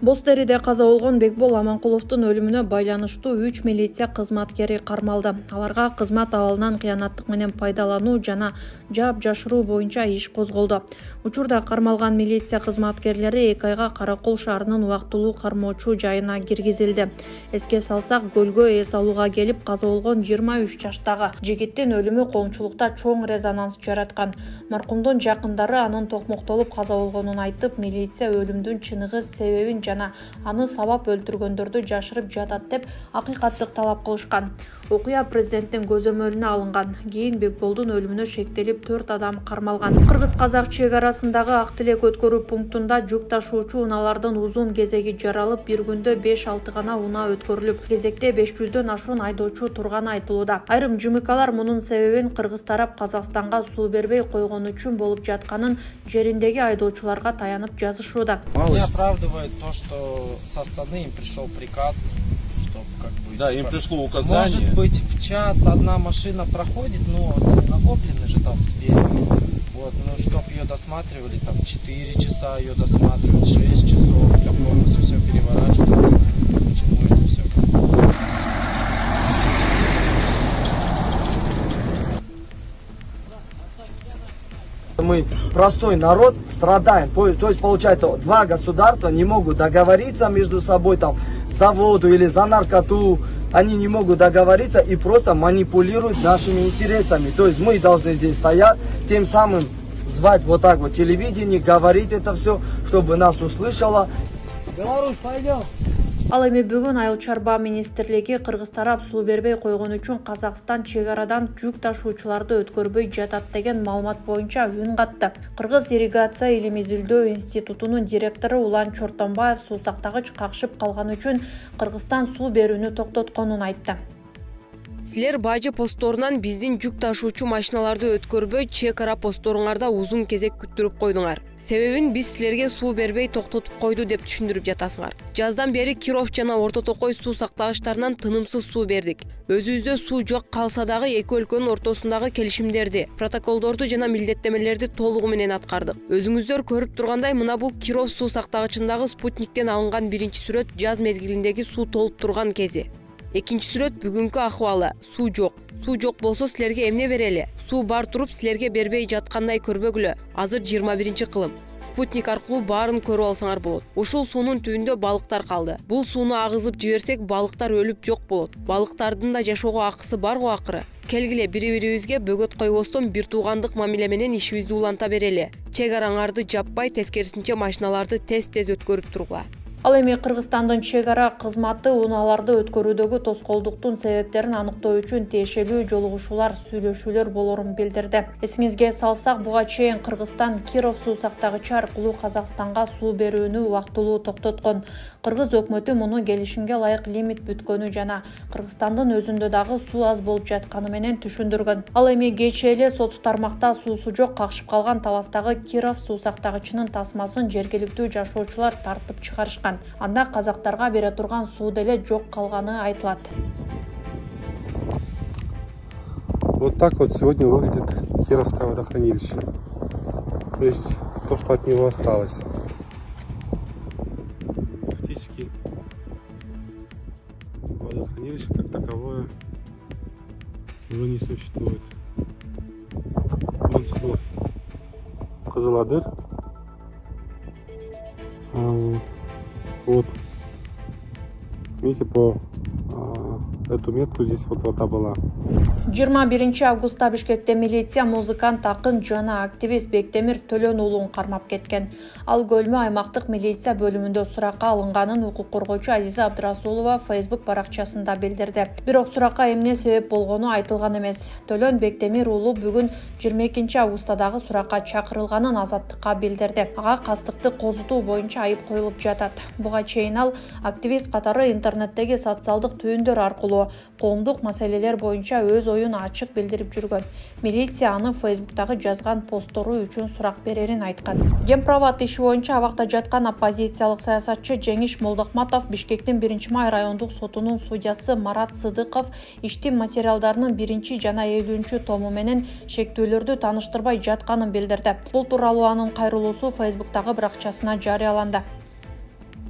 Боз Териде каза болгон Бекбол Аманкуловдун өлүмүнө байланыштуу 3 милиция кызматкери кармалды. Аларга кызмат абалынан кыянаттык менен пайдалануу жана жаап жашыруу боюнча иш козголду. Учурда кармалган милиция кызматкерлери 2 айга Каракол шаарынын убактылуу кармоочу жайына киргизилди. Эске салсак, көлгө эс алууга келип каза болгон 23 жаштагы жигиттин өлүмү коомчулукта чоң резонанс жараткан. Маркумдун жакындары анын токмоктолуп каза болгонун айтып, милиция өлүмдүн чыныгы себебин жана аны сабап өлтүргөндөрдү жашырып жатат деп акыйкаттык талап кылышкан. Окуя президенттин көзөмөлүнө алынган. Кийин Бекболдун өлүмүнө шектелип 4 адам кармалган. Кыргыз-казак чек арасындагы Ак Тилек өткөрүү пунктунда жүк ташуучу унаалардын узун кезеги жаралып, бир күндө 5-6 гана унаа өткөрүлүп, кезекте 500дөн ашуун айдоочу турганы айтылууда. Айрым ЖМКлар мунун себебин кыргыз тарап Казакстанга суу бербей койгон үчүн болуп жатканын жериндеги айдоочуларга таянып жазышууда. Не оправдывает то, что со стороны им пришел приказ. Да, им пришло указание. Может быть, в час одна машина проходит, но накоплены же там спереди. Вот, ну, чтоб ее досматривали, там 4 часа ее досматривать, 6 часов, для полностью все переворачивать. Почему это все? Мы, простой народ, страдаем. То есть, получается, два государства не могут договориться между собой там за воду или за наркоту. Они не могут договориться и просто манипулируют нашими интересами. То есть мы должны здесь стоять, тем самым звать вот так вот телевидение, говорить это все, чтобы нас услышало. Беларусь, пойдем. Ал эми бүгүн Айыл чарба министрлиги кыргыз тарап суу бербей койгон үчүн Казакстан чек арадан жүк ташуучуларды өткөрбөй жатат деген маалымат боюнча үн катты. Кыргыз ирригация илим изилдөө институтунун директору Улан Чортонбаев суу сактагыч какшып калган үчүн Кыргызстан суу берүүнү токтотконун айтты. Силер бажы постторунан биздин жүк ташуучу машиналарды өткөрбөй чек ара посторуңарда узун кезек күттүрүп койдуңар. Себебин биз силерге суу бербей токтотуп койду деп түшүндүрүп жатасыңар. Жаздан бери Киров жана Орто Токой суу сактагычтарынан тынымсыз суу бердик. Өзүбүздө суу жок калса дагы эки өлкөнүн ортосундагы келишимдерди, протоколдорду жана милдеттемелерди толугу менен аткардык. Өзүңүздөр көрүп тургандай, мына бул Киров суу сактагычындагы спутниктен алынган биринчи сүрөт жаз мезгилиндеги суу толуп турган кези. Экинчи сүрөт бүгүнкү акыбалы. Суу жок. Суу жок болсо силерге эмне берели? Суу бар туруп силерге бербей жаткандай көрбөгүлө. Азыр 21-кылым. Спутник аркылуу баарын көрүп алсаңар болот. Ушул суунун түбүндө балыктар калды. Бул сууну агызып жиберсек, балыктар өлүп жок болот. Балыктардын да жашоого акысы бар го акыры. Келгиле бири-бирибизге бөгөт койбостон бир туугандык мамиле менен ишибизди уланта берели. Чек араңарды жаппай, тескерисинче машиналарды тез-тез өткөрүп тургула. Ал эми Кыргызстандын чек ара кызматы унааларды өткөрүүдөгү тоскоолдуктун себептерин аныктоо үчүн тиешелүү жолугушуулар, сүйлөшүүлөр болорун билдирди. Эсиңизге салсак, буга чейин Кыргызстан Киров суу сактагычы аркылуу Казакстанга суу берүүнү убактылуу токтоткон. Кыргыз өкмөтү муну келишимге ылайык лимит бүткөнү жана Кыргызстандын өзүндө дагы суу аз болуп жатканы менен түшүндүргөн. Ал эми кечээ эле сот тармакта суусу жок какшып калган таластагы Киров суу сактагычынын тасмасын жергиликтүү жашоочулар тартып чыгарышкан. Анда казактарга бере турган суу деле жок калганы айтылат. Вот так вот сегодня выглядит Кировское водохранилище. То есть то, что от него осталось. Фактически водохранилище как таковое уже не существует. Вон село Кызыладыр. Вот, видите, по эту метку здесь вот вода была. 21 августта Бишкекте милиция музыкант, акын жана активист Бектемир Төлөн уулун кармап кеткен. Ал көлмө аймактык милиция бөлүмүндө суракка алынганын укук коргоочу Азиза Абдрасулова Facebook баракчасында билдирди. Бирок суракка эмне себеп болгону айтылган эмес. Төлөн Бектемир уулу бүгүн 22 августадагы суракка чакырылганын Азаттыкка билдирди. Ага кастыкты козутуу боюнча айып коюлуп жатат. Буга чейин ал активист катары интернеттеги социалдык түйүндөр аркылуу коомдук маселелер боюнча өз оюн ачык билдирип жүргөн. Милиция аны Facebook'тагы жазган посттору үчүн сурак берерин айткан. Гемправат иши боюнча абакта жаткан оппозициялык саясатчы Жеңиш Молдохматов Бишкектин 1-май райондук сотунун судьясы Марат Сыдыков иштин материалдарынын 1 жана 50-тому менен шектүүлөрдү тааныштырбай жатканын билдирди. Бул тууралуу анын кайрылуусу Facebook'тагы баракчасына жарыяланды.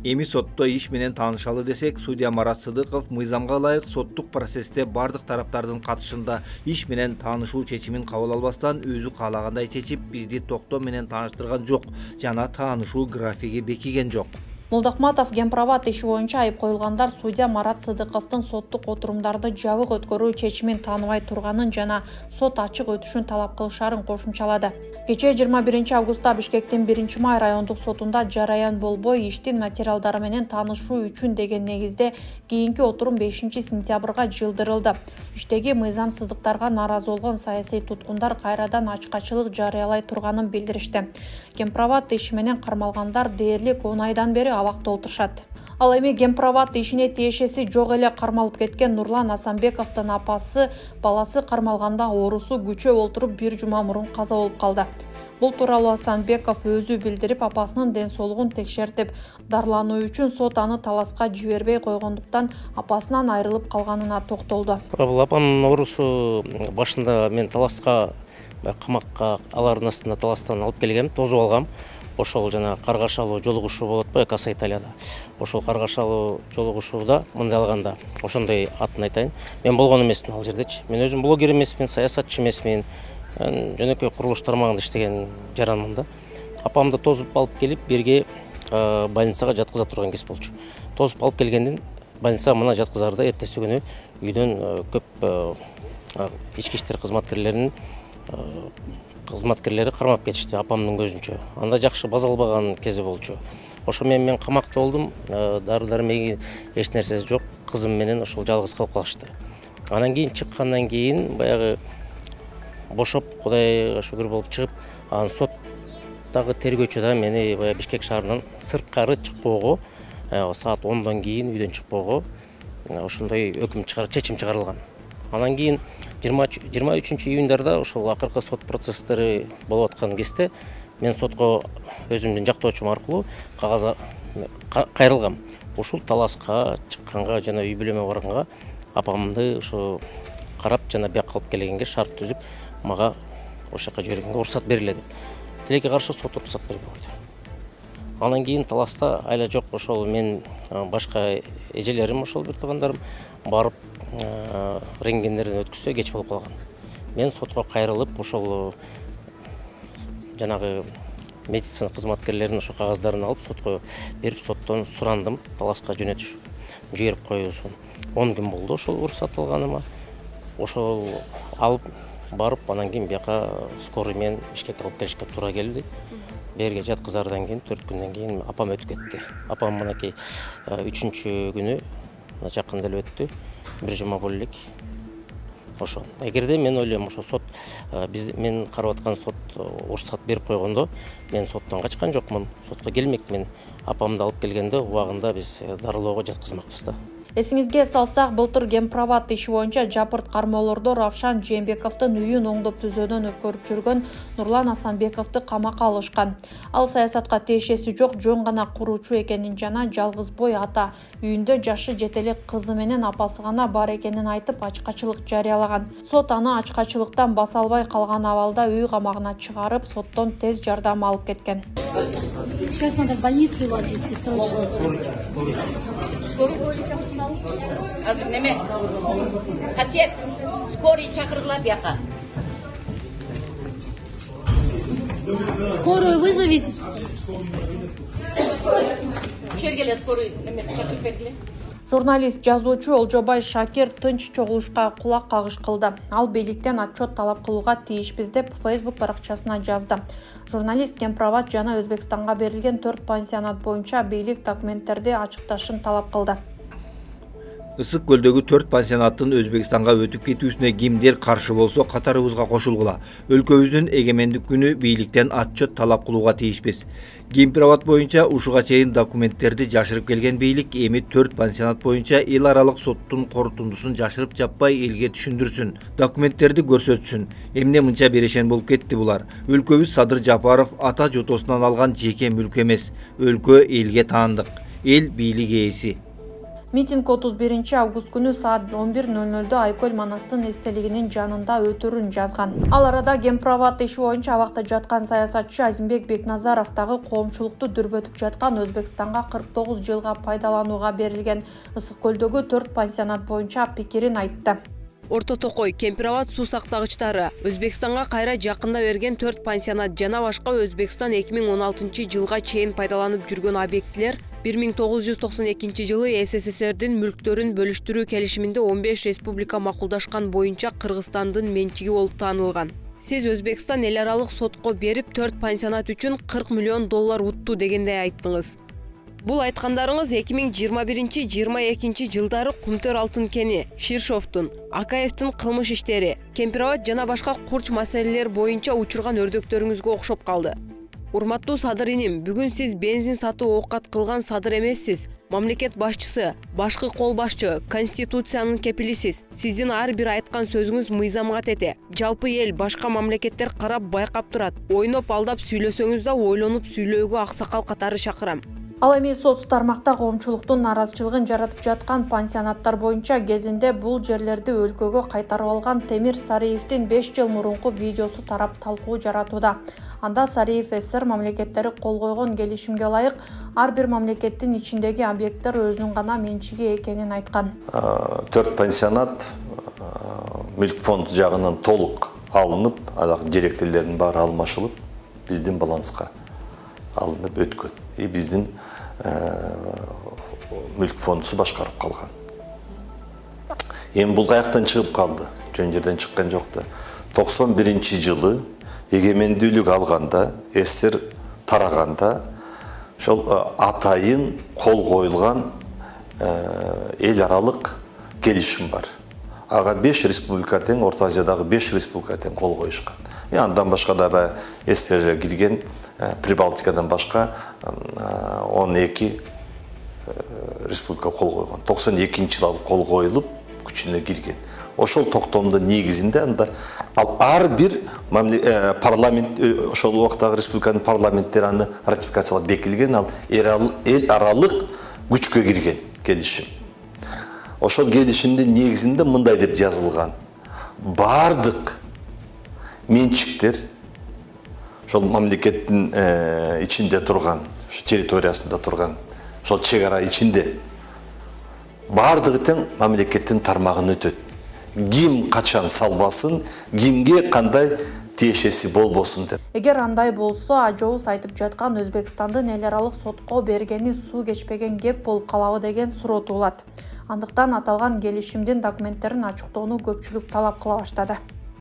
Эми сотто иш менен таанышалы десек, судья Марат Сыдыков мыйзамга ылайык соттук процессте бардык тараптардын катышында иш менен таанышуу чечимин кабыл албастан өзү каалагандай чечип, бизди токтоо менен тааныштырган жок жана таанышуу графиги бекиген жок. Молдохматов Гемправат иши боюнча айып коюлгандар судья Марат Сыдыковдун соттук отурумдарды жабык өткөрүү чечимин тааныбай турганын жана сот ачык өтүшүн талап кылышарын кошумчалады. Кечээ 21 августта Бишкектин 1-Май райондук сотунда жараян болбой иштин материалдары менен таанышуу үчүн деген негизде кийинки отурум 5-сентябрга жылдырылды. Иштеги мыйзамсыздыктарга нааразы болгон саясий туткундар кайрадан ачкачылык жарыялай турганын билдиришти. Гемправат иши менен кармалгандар дээрлик 10 айдан бери абакта отурушат. Ал эми Гемправат ишине тиешеси жок эле кармалып кеткен Нурлан Асанбековдун апасы баласы кармалганда оорусу күчөп олтуруп 1 жума мурун каза болуп калды. Бул тууралуу Асанбеков өзү билдирип, апасынын ден соолугун текшертип, дарылануу үчүн сот аны таласка жибербей койгондуктан апасынан айрылып калганына токтолду. Бул апамдын оорусу башында мен таласка камакка алардын астында таластан алып келгем, тосуп алгам. Ошол жана каргашалуу жолугушуу болот го Экаса Италияда. Ошол каргашалуу жолугушууда мындай алганда, ошондой атын айтайын. Мен болгон эмесмин ал жердечи. Мен өзүм блогер эмесмин, саясатчы эмесмин. Жөнөкөй курулуш тармагында иштеген жаранмын да. Апамды тосуп алып келип, бирге больницага жаткыза турган кез болчу. Тосуп алып келгенден больницага мына жаткызарда эртеси күнү үйдөн көп ички иштер кызматкерлери кармап кетишти апамдын көзүнчө. Анда жакшы база албаган кези болчу. Ошо мен камакта болдум, дары-дармеги эч нерсе жок, кызым менен ошол жалгыз калып калышты. Анан кийин чыккандан кийин баягы бошоп, Кудайга шүгүр болуп чыгып, анан соттагы тергөөчү да мени баягы Бишкек шаарынан сырткары чыкпоого, саат 10дон кийин үйдөн чыкпоого ошондой чечим чыгарылган. Анан кийин 23-июндарда ошол акыркы сот процесстери болуп аткан кезде мен сотко өзүмдүн жактоочум аркылуу кагаз кайрылгам. Ушул таласка чыкканга жана үй бүлөмө барганга апамды ошо карап жана бияка алып келгенге шарт түзүп, мага ошол жака жибергенге уруксат бериле деп. Тилекке каршы сот уруксат бербей койду. Анан кийин таласта айла жок, ошол мен башка эжелерим, ошол бир туугандарым барып рентгендерден өткүзсө кеч болуп калган. Мен сотко кайрылып, ошол жанагы медицина кызматкерлеринин ошо кагаздарын алып сотко берип, соттон сурандым таласка жөнөтүш жиберип коюусун. 10 күн болду ошол уруксат алганыма. Ошол алып барып, анан кийин бияка скорый менен Бишкекке алып келишке туура келди. Берге жаткызардан кийин 4 күндөн кийин апам өтүп кетти. Апам мынакей 3-күнү жакында эле өттү. 1 жума боло элек. Ошо. Эгерде мен ойлойм, ошо сот мен карап аткан сот уруксат берип койгондо, мен соттон качкан жокмун. Сотко келмекмин. Апамды алып келгенде убагында биз дарылоого жаткызмакпыз да. Эсиңизге салсак, былтыр Гемправат иши боюнча жапырт кармоолордо Равшан Жээнбековдун үйүн оңдоп түзөөдөн өткөрүп жүргөн Нурлан Асанбековду камакка алышкан. Ал саясатка тиешеси жок, жөн гана куруучу экенин жана жалгыз бой ата, үйүндө жашы жете элек кызы менен апасы гана бар экенин айтып, ачкачылык жарыялаган. Сот аны ачкачылыктан баса албай калган абалда үй камагына чыгарып, соттон тез жардам алып кеткен. Сейчас надо в больницу его отвезти срочно. Азыр неме? Касиет, скорый чакыргыла бияка. Скорую вызовите. Чергеле скорый неме чакырып бергиле. Журналист, жазуучу Олжобай Шакир тынч чогулушка кулак кагыш кылды. Ал бийликтен отчет талап кылууга тийишпиз деп Facebook баракчасына жазды. Журналист Гемправат жана Өзбекстанга берилген 4 пансионат боюнча бийлик документтерди ачыкташын талап кылды. Ысык көлдөгү 4 пансионаттын Өзбекстанга өтүп кетүүсүнө кимдер каршы болсо катарыбызга кошулгула. Өлкөбүздүн эгемендик күнү бийликтен отчет талап кылууга тийишпиз. Гемправат боюнча ушуга чейин документтерди жашырып келген бийлик эми 4 пансионат боюнча эл аралык соттун корутундусун жашырып жаппай элге түшүндүрсүн, документтерди көрсөтсүн. Эмне мынча берешен болуп кетти булар? Өлкөбүз Садыр Жапаров ата жотосунан алган жеке мүлк эмес. Өлкө элге таандык. Эл бийлик ээси. Митинг 31 август күнү саат 11:00 Айкөл Манастын эстелигинин жанында өтөрүн жазган. Ал арада Гемпроват иши боюнча абакта жаткан саясатчы Азимбек Бекназаровдагы коомчулукту дүрбөтүп жаткан Өзбекстанга 49 жылга пайдаланууга берилген Ысык көлдөгү 4 пансионат боюнча пикирин айтты. Орто Токой, Кемпироват суу сактагычтары, Өзбекстанга кайра жакында берген 4 пансионат жана башка Өзбекстан 2016 жылга чейин пайдаланып жүргөн объектилер 1992 жылы СССРдин мүлктөрүн бөлүштүрүү келишиминде 15 республика макулдашкан боюнча Кыргызстандын менчиги болуп таанылган. Сиз Өзбекстан эл аралык сотко берип 4 пансионат үчүн $40 миллион утту дегендей айттыңыз. Бул айткандарыңыз 2021-22 жылдары Кумтөр алтын кени, Ширшовдун, Акаевдин кылмыш иштери, Кемпироват жана башка курч маселелер боюнча учурган өрдөктөрүңүзгө окшоп калды. Урматтуу Садыр иним, бүгүн сиз бензин сатып оокат кылган Садыр эмессиз. Мамлекет башчысы, башкы кол башчы, конституциянын кепилисиз. Сиздин ар бир айткан сөзүңүз мыйзамга тете. Жалпы эл, башка мамлекеттер карап байкап турат. Ойноп алдап сүйлөсөңүз да ойлонуп сүйлөөгө аксакал катары чакырам. Ал эми соц тармакта коомчулуктун наразычылыгын жаратып жаткан пансионаттар боюнча кезинде бул жерлерди өлкөгө кайтарып алган Темир Сариевдин 5 жыл мурунку видеосу тарап талкуу жаратууда. Анда Сариев СССР мамлекеттери кол койгон келишимге ылайык ар бир мамлекеттин ичиндеги объекттер өзүнүн гана менчиги экенин айткан. 4 пансионат мүлк фонд жагынан толук алынып, директорлордун баары алмашылып, биздин баланска алынып өткөн. Биздин мүлк фондусу башкарып калган. Эми бул каяктан чыгып калды? Жөн жерден чыккан жок да. 91 жылы эгемендүүлүк алганда, СССР тараганда, ошол атайын кол коюлган эл аралык келишим бар. Ага 5 республика тең, Орто Азиядагы 5 республика тең кол коюшкан. Андан башка да СССРге кирген Прибалтикадан башка 12 республика кол койгон. 92 жылы кол коюлуп, күчүнө кирген. Ошол токтомдун негизинде анда ар бир парламент, ошол убактагы республиканын парламенттери аны ратификациялап бекилген, ал эл аралык күчкө кирген келишим. Ошол келишимдин негизинде мындай деп жазылган: бардык менчиктер ошол мамлекеттин ичинде турган, ошо территориясында турган, ошол чек ара ичинде бардыгы тең мамлекеттин тармагын өтөт. Ким качан салбасын, кимге кандай тиешеси болбосун деп. Эгер андай болсо, ажообуз айтып жаткан Өзбекстандын эл аралык сотко бергени суу кечпеген кеп болуп калабы деген суроо туулат. Андыктан аталган келишимдин документтерин ачыктоону көпчүлүк талап кыла баштады.